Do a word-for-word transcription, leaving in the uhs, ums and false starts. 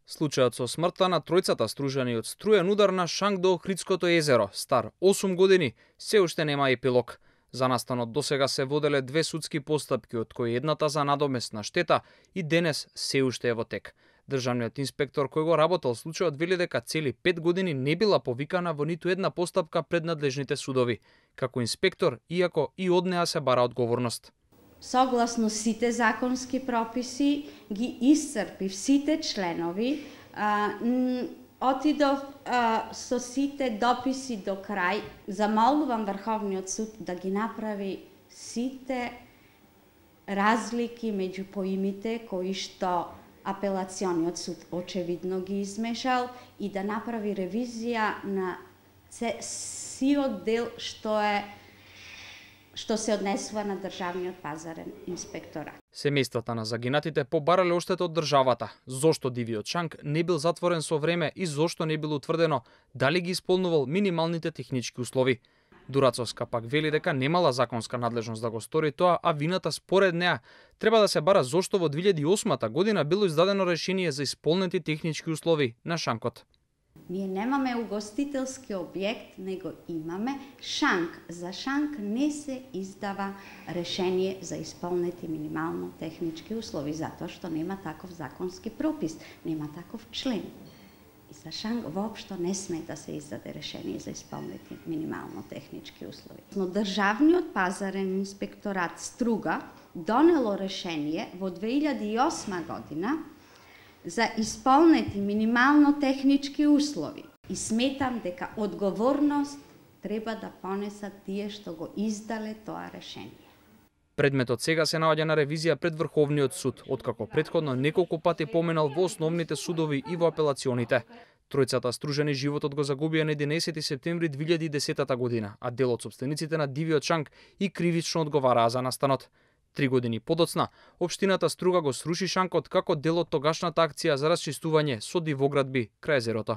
Случајот со смртта на тројцата стружани од струен удар на шанк до Охридското езеро, стар осум години, се уште нема епилог. За настанот досега се воделе две судски постапки, од кои едната за надоместна штета и денес се уште е во тек. Државниот инспектор кој го работел случајот вели дека цели пет години не била повикана во ниту една постапка пред надлежните судови. Како инспектор, иако и од неа се бара одговорност. Согласно сите законски прописи, ги исцрпив сите членови, а, отидов а, со сите дописи до крај, замолувам Врховниот суд да ги направи сите разлики меѓу поимите кои што апелациониот суд очевидно ги измешал и да направи ревизија на сиот дел што е што се однесува на државниот пазарен инспекторат. Семејствата на загинатите побарале оштета од државата. Зошто дивиот шанк не бил затворен со време и зошто не било утврдено дали ги исполнувал минималните технички услови. Дурацовска пак вели дека немала законска надлежност да го стори тоа, а вината според неа треба да се бара зошто во две илјади и осма година било издадено решение за исполнети технички услови на шанкот. Ние немаме угостителски објект, него имаме шанк. За шанк не се издава решение за исполнети минимално технички услови, затоа што нема таков законски пропис, нема таков член. И за шанк воопшто не сме да се издаде решение за исполнети минимално технички услови. Но државниот пазарен инспекторат Струга донело решение во две илјади и осма година за исполнети минимално технички услови. И сметам дека одговорност треба да понесат тие што го издале тоа решение. Предметот сега се наоѓа на ревизија пред Врховниот суд, откако претходно неколку пати поминал во основните судови и во апелационите. Тројцата стружани животот го загубија на единаесети септември две илјади и десета година, а дел од сопствениците на дивиот шанк и кривично одговараа за настанот. Три години подоцна, општината Струга го сруши шанкот како дел од тогашната акција за расчистување со дивоградби крај езерото.